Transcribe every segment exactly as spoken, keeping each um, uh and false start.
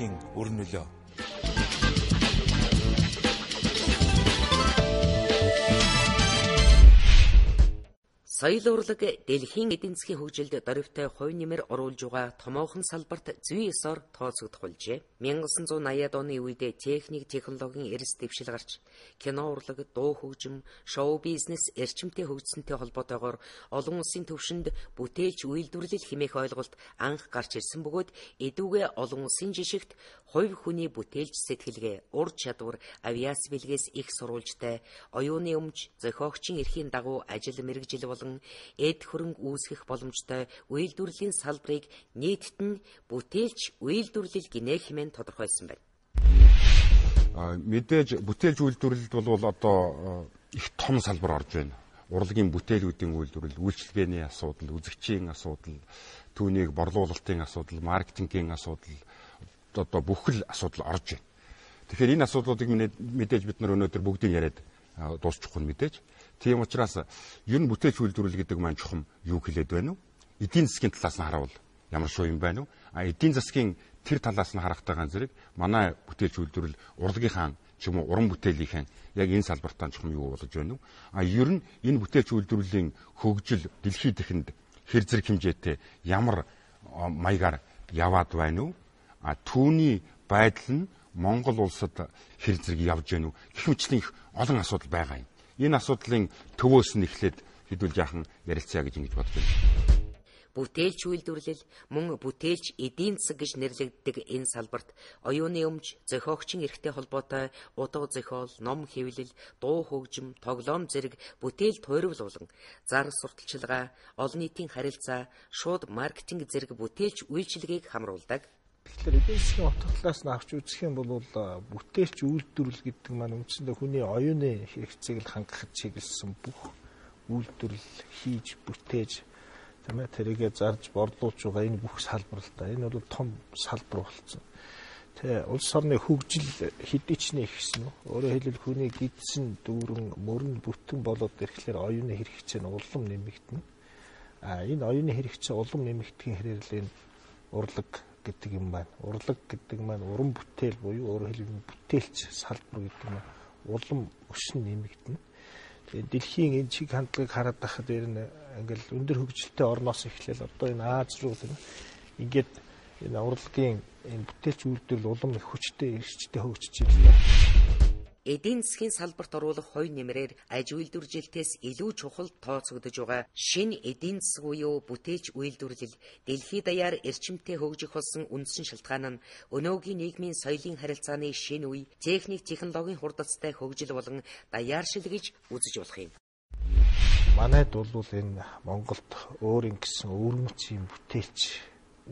дэлхийн өрн нөлөө. Соёл урлаг дэлхийн эдийн засгийн хөгжилд дөрвтэй хувь нэмэр оруулж байгаа томоохон салбарт зүй ёсоор тооцогдох болжээ. мянга зуун наяад оны үед техник, технологийн эрс дэвшил гарч кино урлаг, дуу хөгжим, шоу бизнес эрчимтэй хөгжсөнтэй холбоотойгоор олон улсын түвшинд бүтээлч үйлдвэрлэл хэмээх ойлголт анх гарч ирсэн бөгөөд эдүүгээ олон улсын жишгт хувь хүний бүтээлч сэтгэлгээ, ур чадвар, авиац бэлгээс их сурвалжтай, оюуны өмч, зохиогчийн эрхийн дагуу ажил мэргэжил болон эд хөрөнгө үүсгэх боломжтой үйлдвэрлэлийн салбарыг нийтэд нь бүтээлч үйлдвэрлэл гинэ хэмээн тодорхойлсон байна. Мэдээж бүтээлч үйлдвэрлэлд бол одоо их том салбар орж байна. Урлагийн бүтээлүүдийн үйлдвэрлэл, үйлчилгээний асуудал, үзэгчийн асуудал, түүнийг борлуулалтын асуудал, маркетингийн асуудал, одоо бүх л асуудал орж байна. Тэгэхээр энэ асуудлуудыг мэдээж бид нар өнөөдөр бүгдийг яриад дуусчихгүй мэдээж. Тийм учраас ер нь бүтээлч үйлдвэрлэл гэдэг маань чухам юу хэлээд байна вэ? Эдийн засгийн талаас нь харавал ямар шүү юм байна вэ? А эдийн засгийн тэр талаас нь харахтайгаан зэрэг манай бүтээлч үйлдвэрлэл урлагийнхаа ч юм уу уран бүтээлийнхэн яг энэ салбартаа чухам юу болж байна вэ? А ер нь энэ бүтээлч үйлдвэрлэлийн хөгжил дэлхийд дахинд хэр зэрэг хэмжээтэй ямар маягаар яваад байна вэ? А түүний байдал нь Монгол улсад хэр зэрэг явж байна вэ? Гэх мэтлэн их олон асуудал байгаа юм. Энэ асуудлын төвөөс нь эхлээд хэдүүл жаахан ярилцъя гэж ингэж бодож байна. Бүтээлч үйлдвэрлэл мөн бүтээлч эдийн засаг гэж нэрлэгддэг энэ салбарт оюуны өмч, зохиогчийн эрхтэй холбоотой утга зохиол, ном хэвлэл, дуу хөгжим, тоглоом зэрэг бүтээл туйрвал болон зар сурталчилгаа, олон нийтийн харилцаа, шууд маркетинг зэрэг бүтээлч үйлчилгээг хамруулдаг. Тэгэхээр эдийн засгийн утга талаас нь авч үзэх юм бол бүтээлч үйлдвэрлэл гэдэг маань үндсэндээ хүний оюуны хэрэгцээг л хангахад чиглэсэн бүх үйлдвэрлэл хийж бүтээж тийм ээ тэрийгэ зарж борлуулж байгаа энэ бүх салбар л да. Энэ бол том салбар болсон. Тэ улс орны хөгжил хэдий ч нэгсэн. Өөрөөр хэлбэл хүний гидсэн дүүрэн мөрөн бүтэн болоод ирэхлээр оюуны хэрэгцээ нь улам нэмэгдэнэ. А энэ оюуны хэрэгцээ улам нэмэгдэхин хэрээр энэ урлаг гэдэг юм байна. Урлаг гэдэг маань уран бүтээл буюу өөрөөр хэлбэл бүтээлч салбар гэдэг нь улам өсөн нэмэгдэнэ. Тэгээд дэлхийн энэ чиг хандлагыг хараад байхад ер нь ингээл өндөр хөгжилтэй орноос эхлээл одоо энэ Аз руу ингээд энэ урлагийн энэ бүтээлч үйлдвэрлэл улам их хүчтэй эрсчтэй хөгжиж байна. Эдийн засгийн салбарт оруулах хувь нэмрээр аж үйлдвэржилтээс илүү чухал тооцогдож байгаа шинэ эдийн засаг буюу бүтээлч үйлдвэрлэл дэлхийд даяар эрчимтэй хөгжих болсон үндсэн шалтгаан нь өнөөгийн нийгмийн соёлын харилцааны шинэ үе, техник, технологийн хурдацтай хөгжил болон даяаршил гэж үзэж болох юм. Манайд бол энэ Монголд өөрийн гэсэн өвөрмөц юм бүтээлч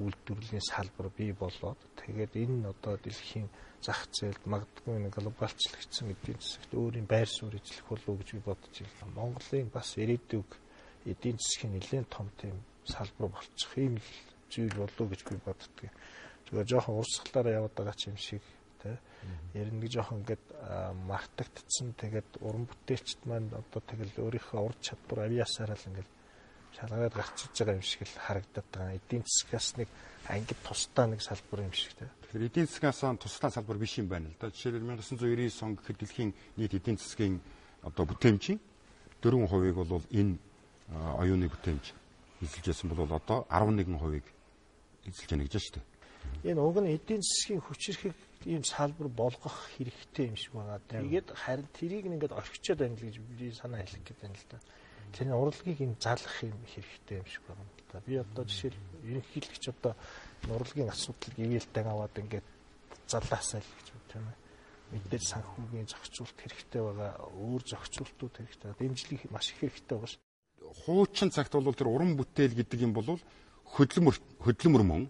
үйлдвэрлэлийн салбар бий болоод тэгээд энэ одоо дэлхийн зах зээлд магадгүй нэг глобалчлагдсан эдийн засагт өөрийн байр суурь эзлэх болов гэж би бодож байна. Монголын бас ирээдүйг эдийн засгийн нэлээд том тийм салбар болчих юм л зүйл болов гэж би боддог. Тэгээ жоохон урсгалаараа яваад байгаа ч юм шиг тий. Ер нь жоохон ингээд мартагдсан тэгээд уран бүтээлчд маань одоо тэгэл өөрийнхөө ур чадвар авьяасаараа л ингээд шалгаад гарч иж байгаа юм шиг л харагдаад байгаа. Эдийн засгаас нэг ангид тусдаа нэг салбар юм шиг тий. Тэгэхээр эдийн засгаас тусдаа салбар биш юм байна л да. Жишээлбэл 천구၉девяносто он гэхэд дэлхийн нийт эдийн засгийн одоо бүтээмжийн дөрвөн хувийг бол энэ оюуны бүтээмж эзэлж байсан бол одоо арван нэгэн хувийг эзэлж байна гэж байна шүү дээ. Энэ уг нь эдийн засгийн хүчирхэг ийм салбар болгох хэрэгтэй юм шиг байна. Тэгээд харин тэрийг ингээд орхичод байна л гэж би санаа хэлэх гээд байна л да. Тэр урлагийг энэ залгах юм хэрэгтэй юм шиг байна. Би одоо жишээл ерөнхийлөгч одоо урлагийн асуудлыг ивэлтэй аваад ингээд залаасаа л гэж байна тийм ээ. Мэдээж санхүүгийн зохицуулт хэрэгтэй байгаа, өөр зохицуултууд хэрэгтэй, дэмжлэг маш их хэрэгтэй байгаа шүү. Хуучин цагт бол тэр уран бүтээл гэдэг юм бол хөдөлмөр хөдөлмөр мөн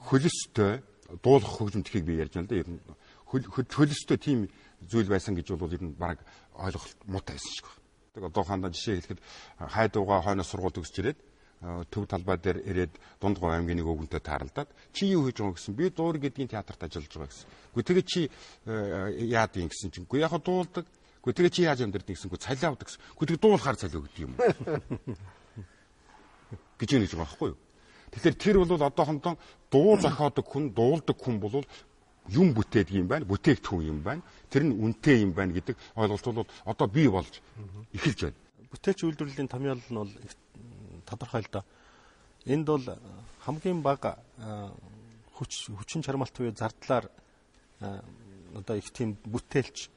хөлөстэй дуулах хөгжим тхийг би ярьж байна л да. Ер нь хөлөстэй тийм зүйл байсан гэж бол ер нь баг ойлголт муутай байсан шиг байна. Тэг одоохондоо жишээ хэлэхэд хайдууга хойноос сургууль төгсч ирээд төв талбай дээр ирээд Дундгой аймгийн нэг өвгөнтэй тааралдаад чи юу хийж байгаа гэсэн би дуур гэдгийн театрт ажиллаж байгаа гэсэн. Гэхдээ тэгээ чи яад юм гэсэн чинь үгүй яг дуулдаг. Гэхдээ тэгээ чи яаж амьдэрдэг гэсэнгүй цалиа авдаг гэсэн. Гэхдээ дуулахаар цалиа өгдөг юм. гэж нэг байгаа байхгүй юу? Тэгэхээр тэр бол одоохондоо дуу зохиодог хүн, дуулдаг хүн бол юм бүтээдэг юм байна, бүтээгдэхүүн юм байна. Тэр нь үнэтэй юм байна гэдэг ойлголт бол одоо бий болж эхэлж байна. Бүтээлч үйлдвэрлэлийн томьёол нь бол тодорхой л да. Энд бол хамгийн бага хүч хүчин чармаалт буюу зардлаар одоо их тийм бүтээлч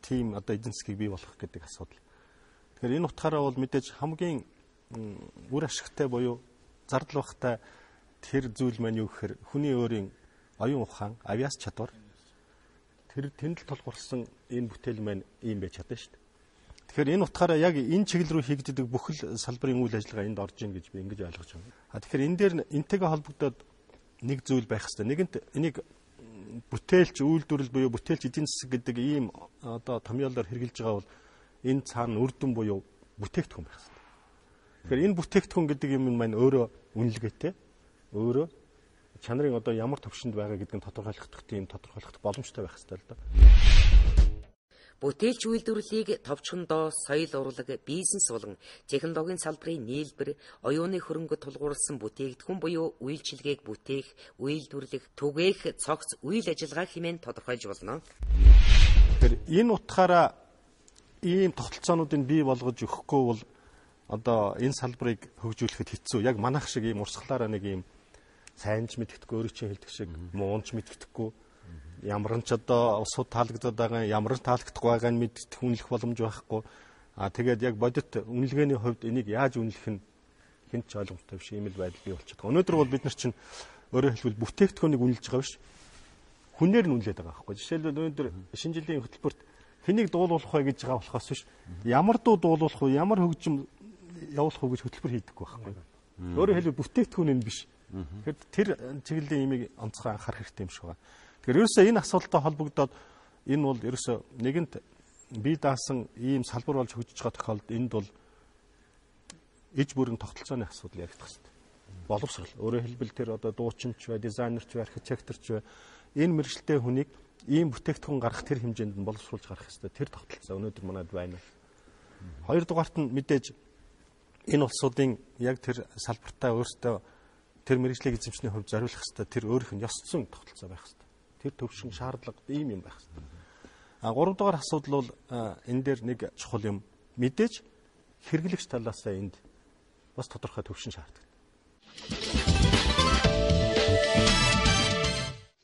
тийм одоо эдийн засгийг бий болгох гэдэг асуудал. Тэгэхээр энэ утгаараа бол мэдээж хамгийн үр ашигтай буюу зардал багтай тэр зүйл маань юу гэхээр хүний өөрийн оюун ухаан, авиас чадвар тэр тэндэл толгуурсан энэ бүтээл маань ийм байж чадна шүү дээ. Тэгэхээр энэ утгаараа яг энэ чиглэл рүү хийгддэг бүхэл салбарын үйл ажиллагаа энд орж ийн гэж би ингэж ойлгож байна. А тэгэхээр энэ дээр энтэйгээ холбогдоод нэг зүйл байх хэрэгтэй. Нэгэнт энийг бүтээлч үйлдвэрлэл буюу бүтээлч эдийн засаг гэдэг ийм одоо томьёолоор хэрэгжилж байгаа бол энэ цаана үр дүн буюу бүтээгдэхүүн байх хэрэгтэй. Тэгэхээр энэ бүтээгдэхүүн гэдэг юм маань өөрөө үнэлгээтэй, өөрөө чанарын одоо ямар төвшөнд байгаа гэдгийг тодорхойлох тийм тодорхойлох боломжтой байх хэрэгтэй л да. Бүтээлч үйлдвэрлэлийг товчхондоо соёл урлаг, бизнес болон технологийн салбарын нийлбэр, оюуны хөрөнгө тулгуурласан бүтээгдэхүүн буюу үйлчилгээг бүтээх, үйлдвэрлэх, түгээх, цогц үйл ажиллагаа хэмээн тодорхойлж болно. Тэгэхээр энэ утгаараа ийм тогтолцоонуудыг бий болгож өгөхгүй бол одоо энэ салбарыг хөгжүүлэхэд хэцүү. Яг манайх шиг ийм урсгалаараа нэг ийм сайнч мэдгэдэггүй, өөрөө чинь хэлдэг шиг муунч мэдгэдэггүй, ямар ч одоо усууд таалагдаад байгаа, ямар ч таалагдахгүй байгааг нь мэддэг үнэлэх боломж байхгүй. Аа тэгээд яг бодит үнэлгээний хувьд энийг яаж үнэлэх нь хэн ч ойлгомжтой биш ийм л байдал бий болчиход. Өнөөдөр бол бид нар чинь өөрөөр хэлбэл бүтээгдэхүүнийг үнэлж байгаа биш. Хүнээр нь үнэлээд байгаа байхгүй. Жишээлбэл өнөөдөр шинэ жилийн хөтөлбөрт хэнийг дуулуулах вэ гэж байгаа болохоос биш. Ямар дуу дуулуулах вэ, ямар хөгжим явуулах вэ гэж хөтөлбөр хийдэггүй байхгүй. Өөрөөр хэлбэл бүтээгдэхүүн нь биш. Тэгэхээр тэр чиглэлийн имийг онцгой анхаарах хэрэгтэй юм шиг байна. Тэгэхээр ерөөсөө энэ асуудалтай холбогдоод энэ бол ерөөсөө нэгэнт бие даасан ийм салбар болж хөгжиж байгаа тохиолдолд энд бол иж бүрэн тогтолцооны асуудал яригдах хэрэгтэй. Боловсрол. Өөрөөр хэлбэл тэр одоо дуучинч бай, дизайнерч бай, архитекторч бай энэ мэргэжилтэй хүнийг ийм бүтээгдэхүүн гаргах тэр хэмжээнд нь боловсруулж гарах хэрэгтэй. Тэр тогтолцоо өнөөдөр манайд байна. Хоёрдугаарт нь мэдээж энэ улсуудын яг тэр салбартаа өөрсдөө тэр мэргэжлийн эзэмшний хувьд зориулах хэрэгтэй. Тэр өөрийнх нь ёс зүйн тогтолцоо байх хэрэгтэй. Тэр төвшин шаардлага ийм юм байх хэрэгтэй. А гурав дахь асуудал бол энэ дээр нэг чухал юм. Мэдээж хэрэглэгч талаасаа энд бас тодорхой төвшин шаарддаг.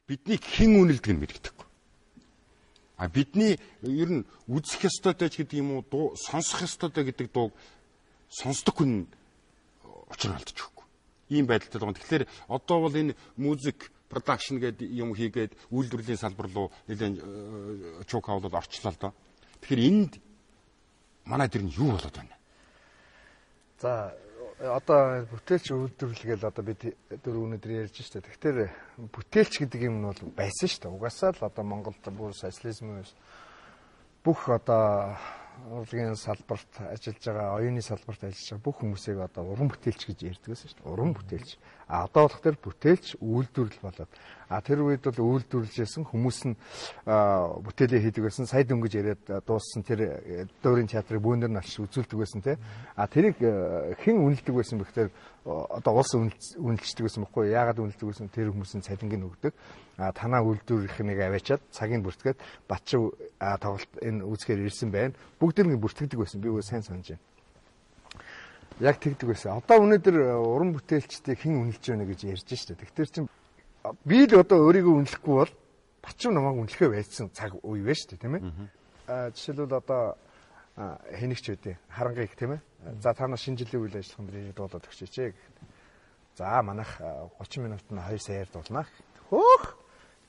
Бидний хэн үнэлдэг нь мэдэгдэхгүй. А бидний ер нь үзэх ёстойтой ч гэдэг юм уу, сонсох ёстойтой гэдэг дууг сонсдог хүн учир алдчихгүй. Ийм байдалтай байгаа. Тэгэхээр одоо бол энэ музик production гэдэг юм хийгээд үйлдвэрлэлийн салбар руу нэлээд чук хавлаад орчлоо л доо. Тэгэхээр энд манай дэр нь юу болоод байна? За одоо бүтээлч үйлдвэрлэл одоо бид дөрөв өнөдөр ярьж штэ. Тэгэхээр бүтээлч гэдэг юм нь бол байсан штэ. Угаасаа л одоо Монголд бүр социализм бүх одоо урлагийн салбарт ажиллаж байгаа, оюуны салбарт ажиллаж байгаа бүх хүмүүсийг одоо уран бүтээлч гэж ярьдаг гэсэн шүү дээ. Уран бүтээлч. А одоо болох тэр бүтээлч үйлдвэрлэл болоод. А тэр үед бол үйлдвэрлэжсэн хүмүүс нь бүтээлээ хийдэг байсан. Сая дөнгөж яриад дууссан тэр дөрийн театрыг бүүнээр нь алж үзүүлдэг байсан те. А тэрийг хэн үнэлдэг байсан бэ гэхээр одоо улс үнэлждэг байсан байхгүй юу? Яагаад үнэлдэг байсан? Тэр хүмүүсийн цалингийг өгдөг. А танаа үйлдвэрлэхнийг аваачаад цагийг бүртгээд батчив тоглолт энэ үзэхээр ирсэн байна. Бүгд нэг бүртгэдэг байсан. Би үгүй сайн санаж байна. Яг тэгдэг байсан. Одоо өнөөдөр уран бүтээлчдийг хэн үнэлж байна гэж ярьж штэ. Тэгэхээр чинь би л одоо өөрийгөө үнэлэхгүй бол батчив намайг үнэлэхээ байсан цаг үе байна штэ, тийм ээ. А жишээлбэл одоо хэнийгч үдээ харангаыг тийм ээ. За та нар шинэ жилийн үйл ажиллагаанд ирээд дуулаад өгчөөч ээ. За манайх гучин минутанд хоёр саяар дуулнаа. Хөөх.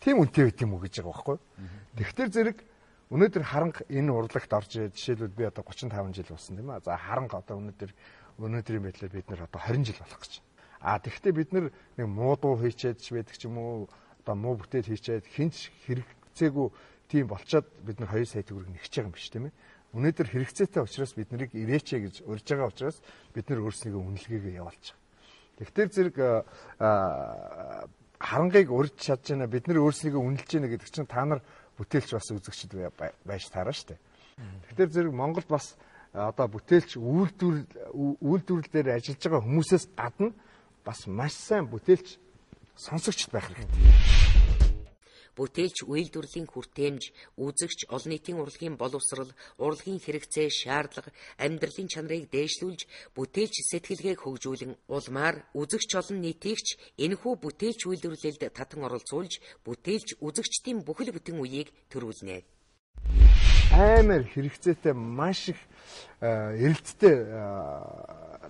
Тийм үнэтэй байт юм уу гэж байгаа байхгүй. Тэгэхээр зэрэг өнөөдөр харанга энэ урлагт орж жишээлбэл би одоо гучин таван жил болсон тийм ээ. За харанга одоо өнөөдөр өнөөдрийн байдлаар бид нэр одоо хорин жил болох гэж. А тэгэхдээ бид нэг муу дуу хийчээд ч байдаг ч юм уу одоо муу бүтээл хийчээд хинч хэрэгцээгүй тийм болчоод бид нар хоёр сая төгрөг нэгж байгаа юм биш тийм ээ. Өнөөдөр хэрэгцээтэй учраас бид нарыг ирээч гэж урьж байгаа учраас бид нар өөрсдөө үнэлгээгээ явуулж байгаа. Тэгэхээр зэрэг харангаыг урьж чадж байна бид нар өөрсдөө үнэлж байна гэдэг чинь та нар бүтээлч бас үзэгчд байж таараа штэ. Тэгэхээр зэрэг Монголд бас одоо бүтээлч үйлдвэрлэл үйлдвэрлэл дээр ажиллаж байгаа хүмүүсээс гадна бас маш сайн бүтээлч сонсогчд байх хэрэгтэй. Бүтээлч үйлдвэрлэлийн хүртээмж, үзэгч олон нийтийн урлагийн боловсрол, урлагийн хэрэгцээ, шаардлага, амьдралын чанарыг дээшлүүлж, бүтээлч сэтгэлгээг хөгжүүлэн улмаар үзэгч олон нийтийгч энэхүү бүтээлч үйлдвэрлэлд татан оролцуулж, бүтээлч үзэгчдийн бүхэл бүтэн үеийг төрүүлнэ. Аймаар хэрэгцээтэй маш их эрэлттэй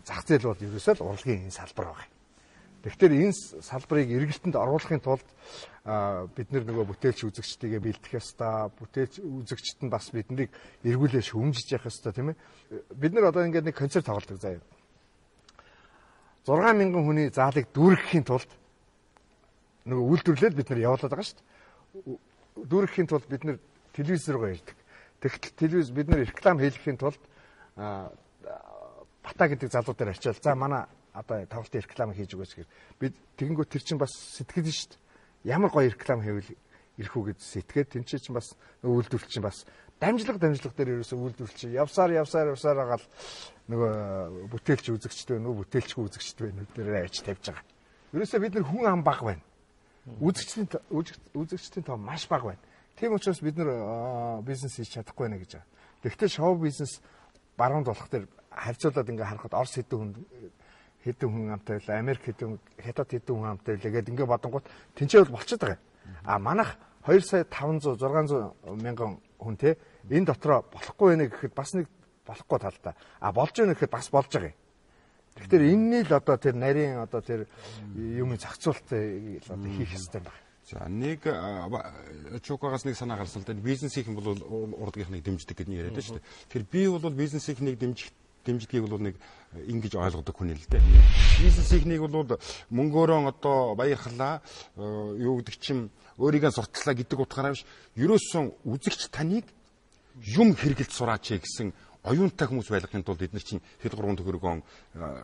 зах зээл бол ерөөсөө л урлагийн энэ салбар байна. Тэгэхээр энэ салбарыг эргэлтэнд оруулахын тулд бид нөгөө бүтээлч үзэгчдийгээ бэлдэх ёстой, бүтээлч үзэгчд нь бас биднийг эргүүлээ шүүмжиж явах ёстой тийм ээ. Бид нар одоо ингээд нэг концерт тоглодог заяа. зургаан мянган хүний заалыг дүүргэхийн тулд нөгөө үйлдвэрлэлд бид нар явуулаад байгаа шүү дээ. Дүүргэхийн тулд бид нар телевиз руугаа ирдэг. Тэгэхдээ телевиз бид нар реклам хийлгэхийн тулд бата гэдэг залуудаар ачаал. За манай одоо тавлтын реклам хийж өгөөч гэхээр бид тэгэнгүүт тэр чинь бас сэтгэл нь шүү дээ. Ямар гоё реклам хийвэл ирэх үү гэж сэтгэгээд тэн чинь бас нөгөө үйлдвэрлэл чинь бас дамжлага дамжлага дээр ерөөсөө үйлдвэрлэл чинь явсаар явсаар явсаар агаал нөгөө бүтээлч үзэгчтэй нөгөө бүтээлчгүй үзэгчтэй байна дээр ажиж тавьж байгаа. Ерөөсөө бид нар хүн ам баг байна. Үзэгчдийн үзэгчдийн тоо маш бага байна. Тийм учраас бид нар бизнес хийж чадахгүй байна гэж байгаа. Тэгэхдээ шоу бизнес баруунд болох дээр харьцуулаад ингээ харахад Орос хэдэн хүн хэдэн хүн амтай байлаа, Америк хэдэн хятад хэдэн хүн амтай байлаа гэдэг ингээ бодонгууд тэнцээ бол болчиход байгаа. А манайх хоёр сая таван зуун зургаан зуун мянган хүн те энэ дотроо болохгүй байна гэхэд бас нэг болохгүй талтай. А болж байна гэхэд бас болж байгаа юм. Тэгэхээр энэний л одоо тэр нарийн одоо тэр юм зохицуултыг одоо хийх хэрэгтэй байна. За нэг чукагаас нэг санаа гарсан л да бизнесийнхэн бол урлагийнхныг дэмждэг гэж яриад байна шүү дээ. Тэгэхээр би бол бизнесийнхнийг дэмжих дэмждгийг бол нэг ингэж ойлгодог хүн л дээ. Бизнесийнхнийг бол мөнгөөрөө одоо баярлалаа юу гэдэг чинь өөрийгөө сурталчлаа гэдэг утгаараа биш. Ерөөсөн үзэгч таныг юм хэрэгэлж сураач гэсэн оюунтай хүмүүс байлгахын тулд бид нар чинь хэд гурван төгрөгөөн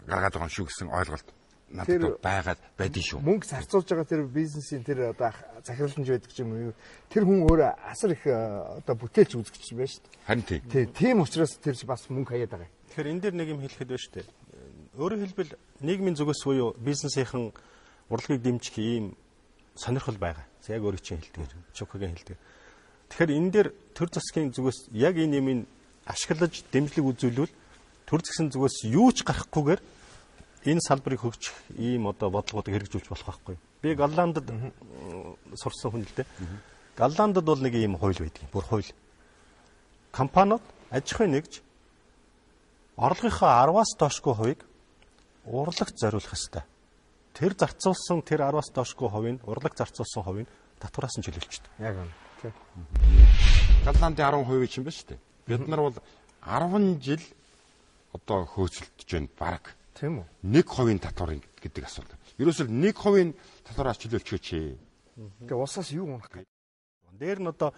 гаргаад байгаа юм шүү гэсэн ойлголт надад байгаад байдгийн шүү. Мөнгө зарцуулж байгаа тэр бизнесийн тэр одоо захирланж байдаг юм уу? Тэр хүн өөрөө асар их одоо бүтээлч үзэгч байна шүү дээ. Харин тийм. Тийм учраас тэр бас мөнгө хаяад байгаа. Тэгэхээр энэ дэр нэг юм хэлэхэд байна шүү дээ. Өөрөөр хэлбэл нийгмийн зүгээс буюу бизнесийнхэн урлагийг дэмжих ийм сонирхол байгаа. Яг өөрийн чинь хэлдэг. Чукагийн хэлдэг. Тэгэхээр энэ дэр төр засгийн зүгээс яг энэ юмыг ашиглаж дэмжлэг үзүүлвэл төр засгийн зүгээс юу ч гарахгүйгээр энэ салбарыг хөгжих ийм одоо бодлогоодыг хэрэгжүүлж болох байхгүй. Би Голландд сурсан хүн л дээ. Голландд бол нэг ийм хууль байдаг. Бүр хууль. Компаниуд аж ахуй нэгж орлогынхаа араваас доошгүй хувийг урлагт зориулах ёстой. Тэр зарцуулсан тэр араваас доошгүй хувийг урлаг зарцуулсан хувийг татвараас нь чөлөөлчдөг. Яг үнэ. Голландын арван хувийг чинь байна шүү дээ. Бид нар бол арван жил одоо хөөцөлдөж байна баг. Тийм үү? нэг хувийн татвар гэдэг асуудал. Ерөөсөө нэг хувийн татвараас чөлөөлчихөөч. Тэгээ усаас юу унах гэж. Дээр нь одоо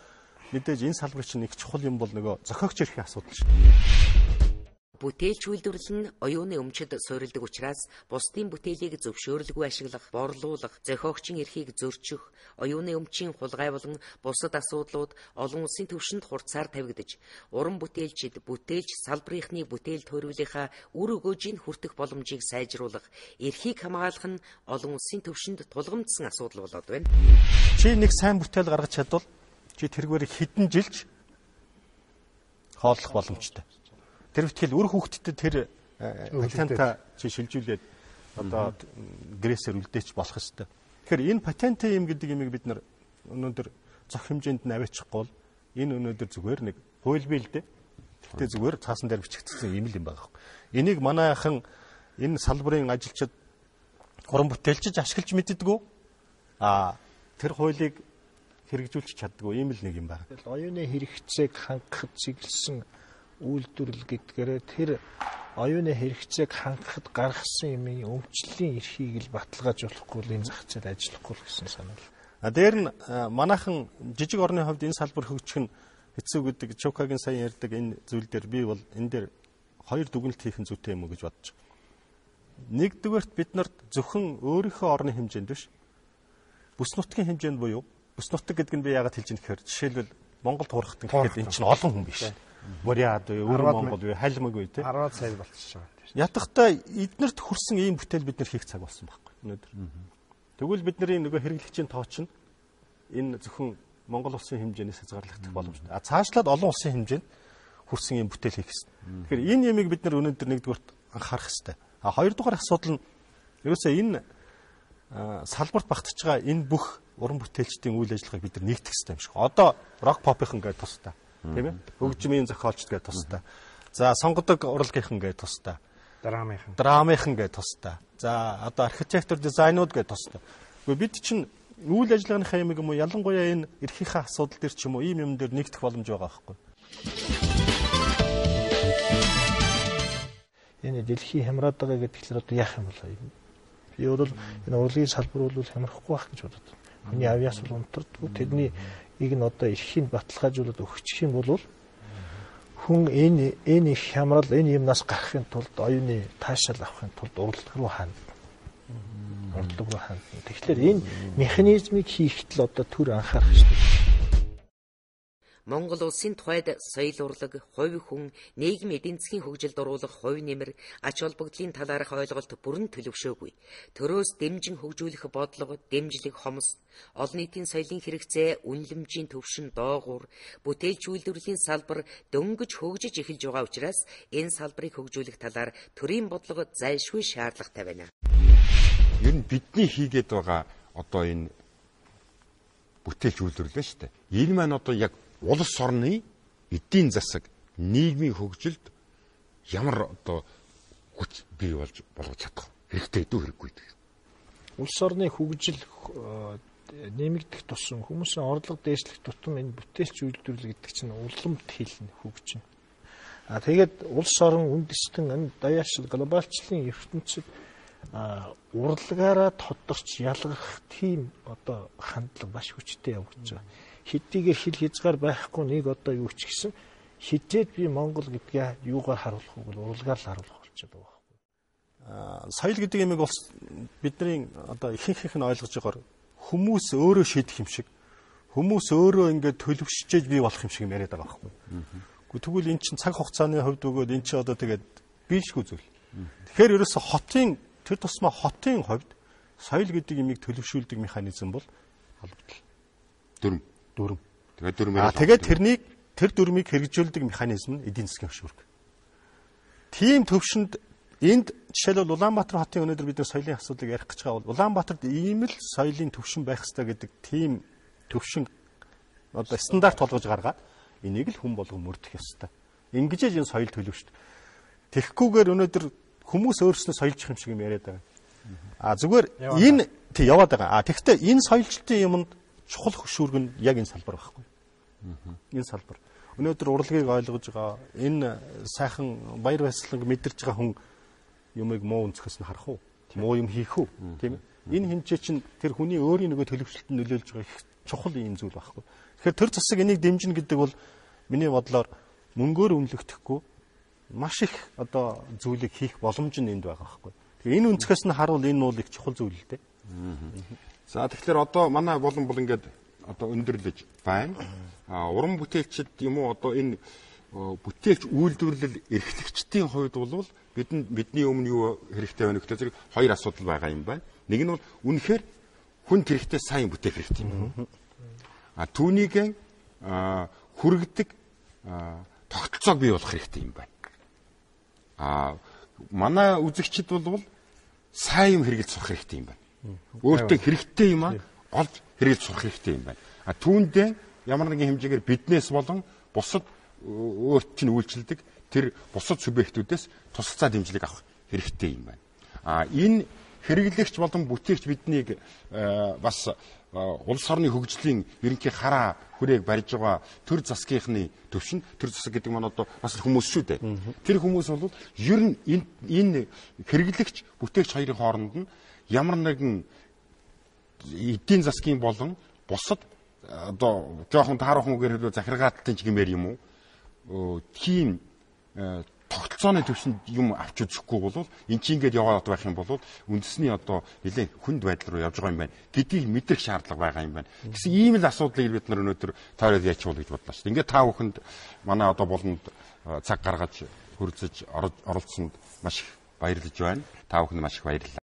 мэдээж энэ салбар чинь их чухал юм бол нөгөө зохиогч эрхийн асуудал шүү дээ. Бүтээлч үйлдвэрлэл нь оюуны өмчөд суурилдаг учраас бусдын бүтээлийг зөвшөөрлгүй ашиглах, борлуулах, зохиогчийн эрхийг зөрчих, оюуны өмчийн хулгай болон бусад асуудлууд олон улсын түвшинд хурцаар тавигдаж, уран бүтээлчид бүтээлч салбарынхны бүтээл төрөлийнхаа үр өгөөжийг хүртэх боломжийг сайжруулах, эрхийг хамгаалах нь олон улсын түвшинд тулгамдсан асуудал болоод байна. Чи нэг сайн бүтээл гаргаж чадвал чи тэргээр хэдэн жилч хооллох боломжтой. Тэр ихтгэл үр хүүхдэд тэр патента чи шилжүүлээд одоо гэрээсээр үлдээч болох ёстой. Тэгэхээр энэ патентын юм гэдэг юмыг бид нар өнөөдөр зөх хэмжээнд нь аваачихгүй бол энэ өнөөдөр зүгээр нэг хууль бий л дээ. Гэхдээ зүгээр цаасан дээр бичигдсэн юм л юм байгаа. Энийг манайхан энэ салбарын ажилчид уран бүтээлчиж ашиглаж мэддэггүй. А тэр хуулийг хэрэгжүүлж чаддгүй ийм л нэг юм байна. Оюуны хэрэгцээг хангахад чиглэсэн үйлдвэрлэл гэдгээрээ тэр оюуны хэрэгцээг хангахад гаргасан юмын өмчлөлийн эрхийг л баталгаажуулахгүй л энэ зах зээл ажиллахгүй л гэсэн санаа. А дээр нь манайхан жижиг орны хувьд энэ салбар хөгжих нь хэцүү гэдэг Чукагийн сайн ярьдаг энэ зүйл дээр би бол энэ дээр хоёр дүгнэлт хийх нь зүйтэй юм уу гэж бодож байна. Нэгдүгээрт бид нарт зөвхөн өөрийнхөө орны хэмжээнд биш бүс нутгийн хэмжээнд буюу бүс нутаг гэдэг нь би яагаад хэлж байгаа гэхээр жишээлбэл Монголд хурахт гэхэд энэ чинь олон хүн биш. Буряд уу, Өвөр Монгол уу, Халимаг уу те. арваад сая болчихж байгаа. Ятгахтай эднэрт хүрсэн ийм бүтээл бид нар хийх цаг болсон байхгүй өнөөдөр. Тэгвэл бидний нөгөө хэрэглэгчийн тоо чинь энэ зөвхөн Монгол улсын хэмжээнээс хязгаарлагдах боломжтой. А цаашлаад олон улсын хэмжээнд хүрсэн юм бүтээл хийх хэрэгтэй. Тэгэхээр энэ ямиг бид нар өнөөдөр нэгдүгээр анхаарах хэрэгтэй. А хоёрдугаар асуудал нь ерөөсөө энэ салбарт багтаж байгаа энэ бүх уран бүтээлчдийн үйл ажиллагааг бид нар нэгтгэх хэрэгтэй юм шиг. Одоо рок попийнхан гэдэг тустай. Тийм ээ? Хөгжмийн зохиолч гэдэг тустай. За сонгодог урлагийнхан гэдэг тустай. Драмынхан. Драмынхан гэдэг тустай. За одоо архитектур дизайнууд гэдэг тустай. Гэхдээ бид чинь үйл ажиллагааныхаа юм юм уу ялангуяа энэ эрхийнхаа асуудал дээр ч юм уу ийм юм дээр нэгдэх боломж байгаа байхгүй. Энэ дэлхий хямраад байгаа гэдгээр одоо яах юм бол юм. Би бол энэ урлагийн салбар бол хямрахгүй байх гэж бодод. Хүний авьяас бол унтардгүй. Тэдний ийг нь одоо эрхийг баталгаажуулаад өгчих юм бол хүн энэ энэ их хямрал энэ юмнаас гарахын тулд оюуны таашаал авахын тулд урлаг руу хаана. Урлаг руу хаана. Тэгэхээр энэ механизмыг хийхэд л одоо түр анхаарах хэрэгтэй. Монгол улсын тухайд соёл урлаг, хувь хүн, нийгэм эдийн засгийн хөгжилд оруулах хувь нэмэр, ач холбогдлын талаарх ойлголт бүрэн төлөвшөөгүй. Төрөөс дэмжин хөгжүүлэх бодлого, дэмжлэг хомс, олон нийтийн соёлын хэрэгцээ, үнэлэмжийн төвшин доогуур, бүтээлч үйлдвэрлэлийн салбар дөнгөж хөгжиж эхэлж байгаа учраас энэ салбарыг хөгжүүлэх талаар төрийн бодлого зайлшгүй шаардлагатай байна. Ер нь бидний хийгээд байгаа одоо энэ бүтээлч үйлдвэрлэл шүү дээ. Энэ маань одоо яг улс орны эдийн засаг, нийгмийн хөгжилд ямар одоо хүч бий болж болгож чадах хэрэгтэй дүү хэрэггүй гэдэг. Улс орны хөгжил нэмэгдэх тусам хүмүүсийн орлого дээшлэх тутам энэ бүтээлч үйлдвэрлэл гэдэг чинь улам хэлнэ хөгжинэ. А тэгээд улс орон үндэстэн энэ даяашил глобалчлалын ертөнцид урлагаараа тодорч ялгах тийм одоо хандлага маш хүчтэй явагдаж байгаа. Хэдийгээр хил хязгаар байхгүй нэг одоо юу ч гэсэн хизээд би Монгол гэдгээ юугаар харуулах вэ? Урлагаар л харуулах болчиход байгаа байхгүй. Аа соёл гэдэг юмыг бол бидний одоо ихэнх нь ойлгож байгаагаар хүмүүс өөрөө шийдэх юм шиг, хүмүүс өөрөө ингээд төлөвшөж бий болох юм шиг яриад байгаа байхгүй. Гэхдээ тэгвэл эн чинь цаг хугацааны хувьд өгөөд эн чинь одоо тэгээд биелшгүй зүйл. Тэгэхээр ерөөсө хотын тэр тусмаа хотын хувьд соёл гэдэг юмыг төлөвшүүлдэг механизм бол холбогдол. Дүрм Дүрм. Тэгээд дүрмээр. Аа тэгээд тэрнийг тэр дүрмийг хэрэгжүүлдэг механизм нь эдийн засгийн хөшүүрэг. Тийм төвшөнд энд жишээлбэл Улаанбаатар хотын өнөөдөр бид нар соёлын асуудлыг ярих гэж байгаа бол Улаанбаатарт ийм л соёлын төвшин байх ёстой гэдэг тийм төвшин одоо стандарт болгож гаргаад энийг л хүн болгон мөрдөх ёстой. Ингэж энэ соёл төлөвшт. Тэгэхгүйгээр өнөөдөр хүмүүс өөрснөө соёлжих юм шиг юм яриад байгаа. Аа зүгээр энэ тий яваад байгаа. Аа тэгэхдээ энэ соёлжлтын юмд чухал хөшүүрэг нь яг энэ салбар байхгүй. Энэ салбар. Өнөөдөр урлагийг ойлгож байгаа энэ сайхан баяр баясгаланг мэдэрч байгаа хүн юмыг муу өнцгөөс нь харах уу? Муу юм хийх үү? Тийм ээ. Энэ хэмжээ чинь тэр хүний өөрийн нөгөө төлөвшлөлтөнд нөлөөлж байгаа их чухал юм зүйл байхгүй. Тэгэхээр тэр засаг энийг дэмжинэ гэдэг бол миний бодлоор мөнгөөр үнэлэгдэхгүй маш их одоо зүйлийг хийх боломж нь энд байгаа байхгүй. Тэгээ энэ өнцгөөс нь харуул энэ бол их чухал зүйл л дээ. За тэгэхээр одоо манай болон бол ингээд одоо өндөрлөж байна. А уран бүтээлчд юм уу одоо энэ бүтээлч үйлдвэрлэл эрхлэгчдийн хувьд бол бидэнд бидний өмнө юу хэрэгтэй байна гэхэл зэрэг хоёр асуудал байгаа юм байна. Нэг нь бол үнэхээр хүн хэрэгтэй сайн бүтээх хэрэгтэй юм. А түүнийг хүргэдэг тогтолцоог бий болох хэрэгтэй юм байна. А манай үзэгчид бол сайн юм хэрэгэлж сурах хэрэгтэй юм байна. Өөртөө хэрэгтэй юм аа олж хэрэгэлж сурах хэрэгтэй юм байна. А түүндээ ямар нэгэн хэмжээгээр биднээс болон бусад өөрт чинь үйлчлдэг тэр бусад субъектүүдээс тусалцаа дэмжлэг авах хэрэгтэй юм байна. А энэ хэрэглэгч болон бүтээгч биднийг бас улс орны хөгжлийн ерөнхий хараа хүрээг барьж байгаа төр засгийнхны төвшин төр засаг гэдэг маань одоо бас хүмүүс шүү дээ. Тэр хүмүүс бол ер нь энэ хэрэглэгч бүтээгч хоёрын хооронд нь ямар нэгэн эдийн засгийн болон бусад одоо жоохон таарах үгээр хэлбэл захиргаалтын ч гэмээр юм уу тийм тогтолцооны төвшөнд юм авч үзэхгүй бол эн чинь ингээд яваад байх юм бол үндэсний одоо нэлээд хүнд байдал руу явж байгаа юм байна гэдгийг мэдрэх шаардлага байгаа юм байна. Гэсэн ийм л асуудлыг бид нар өнөөдөр таараад яачвал гэж бодлоо шүү дээ. Ингээд та бүхэнд манай одоо болонд цаг гаргаж хөрзөж оролцсонд маш их баярлаж байна. Та бүхэнд маш их баярлалаа.